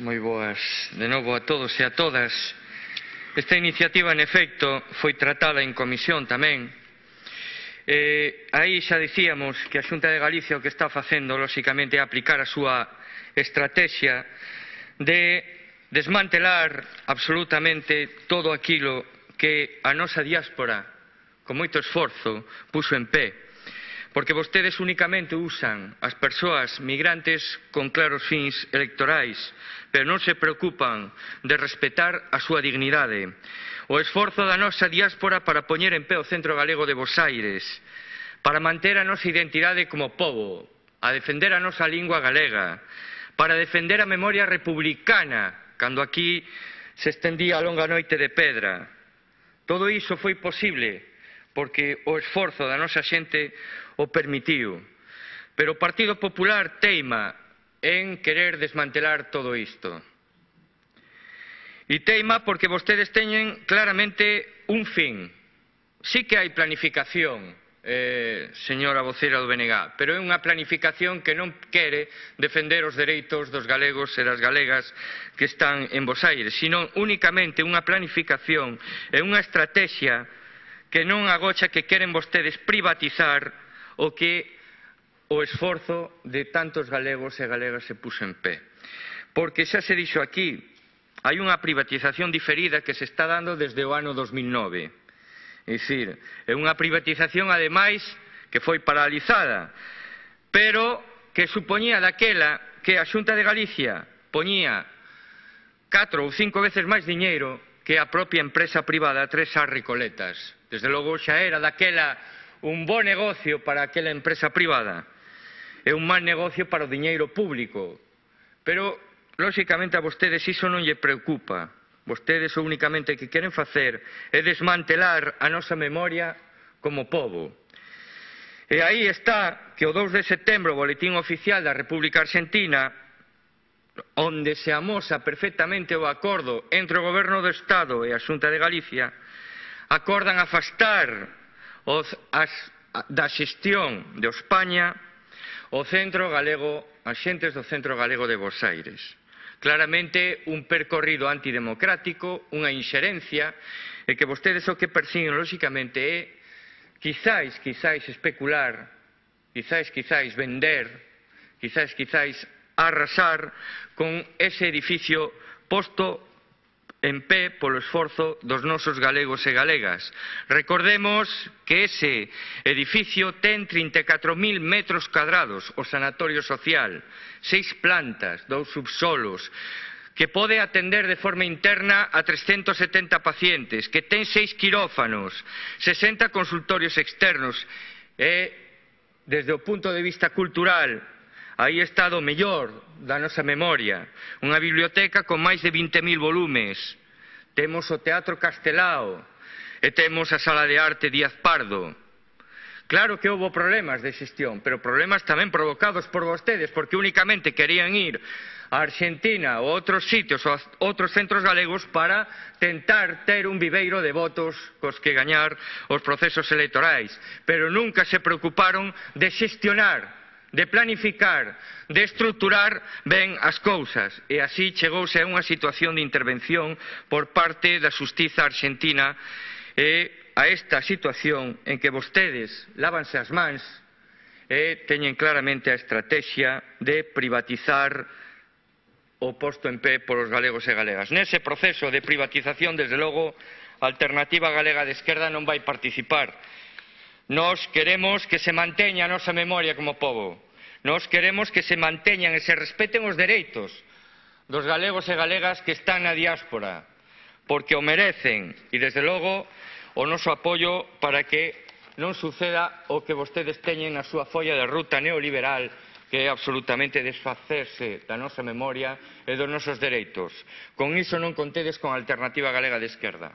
Moi boas de novo a todos e a todas. Esta iniciativa, en efecto, foi tratada en comisión tamén. Aí xa dicíamos que a Xunta de Galicia o que está facendo, lóxicamente, é aplicar a súa estrategia de desmantelar absolutamente todo aquilo que a nosa diáspora, con moito esforzo, puxo en pé. Porque vostedes únicamente usan as persoas migrantes con claros fins electorais, pero non se preocupan de respetar a súa dignidade. O esforzo da nosa diáspora para poñer en pé o Centro Galego de Bosaires, para manter a nosa identidade como pobo, a defender a nosa lingua galega, para defender a memoria republicana, cando aquí se estendía a longa noite de pedra. Todo iso foi posible porque o esforzo da nosa xente o permitiu. Pero o Partido Popular teima en querer desmantelar todo isto. E teima porque vostedes teñen claramente un fin. Sí que hai planificación, señora vocera do BNG, pero é unha planificación que non quere defender os dereitos dos galegos e das galegas que están en Bosaires, sino únicamente unha planificación e unha estrategia que non agocha que queren vostedes privatizar o que o esforzo de tantos galegos e galegas se puxo en pé. Porque xa se dixo aquí, hai unha privatización diferida que se está dando desde o ano 2009. É dicir, é unha privatización, ademais, que foi paralizada, pero que supoñía daquela que a Xunta de Galicia poñía 4 ou 5 veces máis diñeiro que a propia empresa privada Tres Arricoletas. Desde logo xa era daquela un bo negocio para aquela empresa privada e un mal negocio para o diñeiro público. Pero, lóxicamente, a vostedes iso non lle preocupa. Vostedes o únicamente que queren facer é desmantelar a nosa memoria como pobo. E aí está que o 2 de setembro, o Boletín Oficial da República Argentina, onde se amosa perfectamente o acordo entre o Goberno do Estado e a Xunta de Galicia, acordan afastar da xestión de España o Centro Galego, as xentes do Centro Galego de Bosaires. Claramente un percorrido antidemocrático, unha inxerencia, e que vostedes o que persiguen, lóxicamente, é quizáis especular, quizáis vender, quizáis arrasar con ese edificio posto en pé polo esforzo dos nosos galegos e galegas. Recordemos que ese edificio ten 34.000 metros cadrados, o sanatorio social, 6 plantas, 2 subsolos, que pode atender de forma interna a 370 pacientes, que ten 6 quirófanos, 60 consultorios externos, e, desde o punto de vista cultural, aí está o mellor da nosa memoria, unha biblioteca con máis de 20.000 volumes, temos o Teatro Castelao e temos a Sala de Arte Díaz Pardo. Claro que houve problemas de xestión, pero problemas tamén provocados por vostedes, porque únicamente querían ir a Argentina ou a outros sitios, ou a outros centros galegos para tentar ter un viveiro de votos cos que gañar os procesos electorais, pero nunca se preocuparon de xestionar, de planificar, de estruturar ben as cousas. E así chegouse a unha situación de intervención por parte da xustiza argentina e a esta situación en que vostedes lávanse as mans e teñen claramente a estrategia de privatizar o posto en pé polos galegos e galegas. Nese proceso de privatización, desde logo, a Alternativa Galega de Esquerda non vai participar. Nós queremos que se manteña a nosa memoria como pobo. Nós queremos que se manteñan e se respeten os dereitos dos galegos e galegas que están na diáspora, porque o merecen, e desde logo o noso apoio para que non suceda o que vostedes teñen na súa folla de ruta neoliberal, que é absolutamente desfacerse da nosa memoria e dos nosos dereitos. Con iso non contedes con a Alternativa Galega de Esquerda.